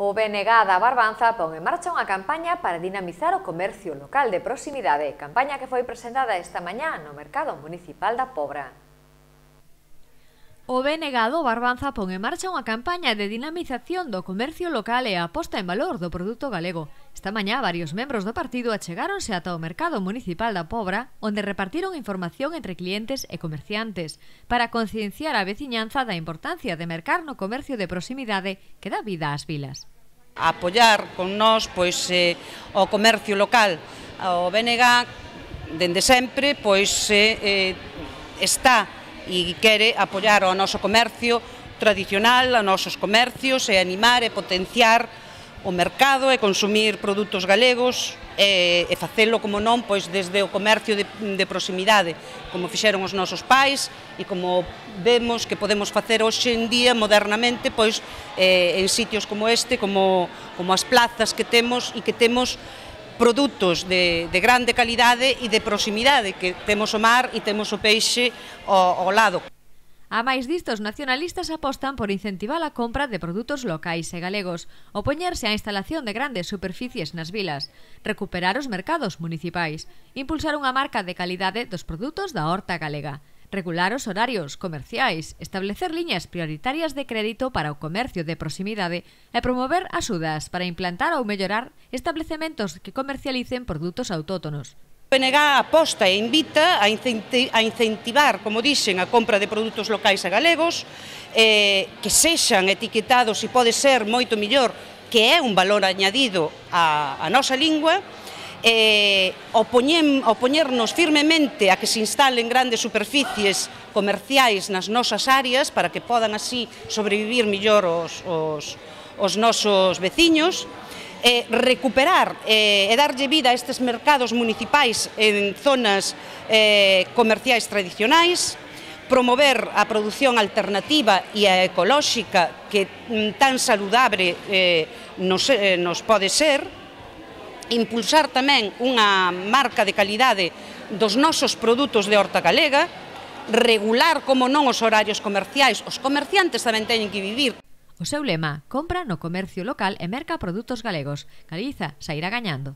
O BNG da Barbanza pon en marcha unha campaña para dinamizar o comercio local de proximidade, campaña que foi presentada esta mañá no Mercado Municipal da Pobra. O BNG do Barbanza pon en marcha unha campaña de dinamización do comercio local e a posta en valor do produto galego. Esta mañá, varios membros do partido achegáronse ata o Mercado Municipal da Pobra, onde repartiron información entre clientes e comerciantes, para concienciar a veciñanza da importancia de mercar no comercio de proximidade que dá vida ás vilas. A apoiar con nós o comercio local. O BNG, dende sempre, está e quere apoiar o noso comercio tradicional, os nosos comercios, e animar e potenciar o mercado e consumir produtos galegos e facelo, como non, desde o comercio de proximidade, como fixeron os nosos pais e como vemos que podemos facer hoxe en día modernamente en sitios como este, como as plazas que temos, e que temos produtos de grande calidade e de proximidade, que temos o mar e temos o peixe ao lado. A máis disto, os nacionalistas apostan por incentivar a compra de produtos locais e galegos, opoñerse á instalación de grandes superficies nas vilas, recuperar os mercados municipais, impulsar unha marca de calidade dos produtos da horta galega, regular os horarios comerciais, establecer liñas prioritarias de crédito para o comercio de proximidade e promover axudas para implantar ou mellorar establecementos que comercialicen produtos autóctonos. O BNG aposta e invita a incentivar, como dixen, a compra de produtos locais e galegos, que sexan etiquetados, e pode ser moito mellor, que é un valor añadido á nosa lingua, opoñernos firmemente a que se instalen grandes superficies comerciais nas nosas áreas para que podan así sobrevivir mellor os nosos veciños, recuperar e darlle vida a estes mercados municipais en zonas comerciais tradicionais, promover a produción alternativa e a ecolóxica que tan saludable nos pode ser, impulsar tamén unha marca de calidade dos nosos produtos de horta galega, regular, como non, os horarios comerciais. Os comerciantes tamén teñen que vivir. O seu lema: compra no comercio local e merca produtos galegos. Galiza sairá gañando.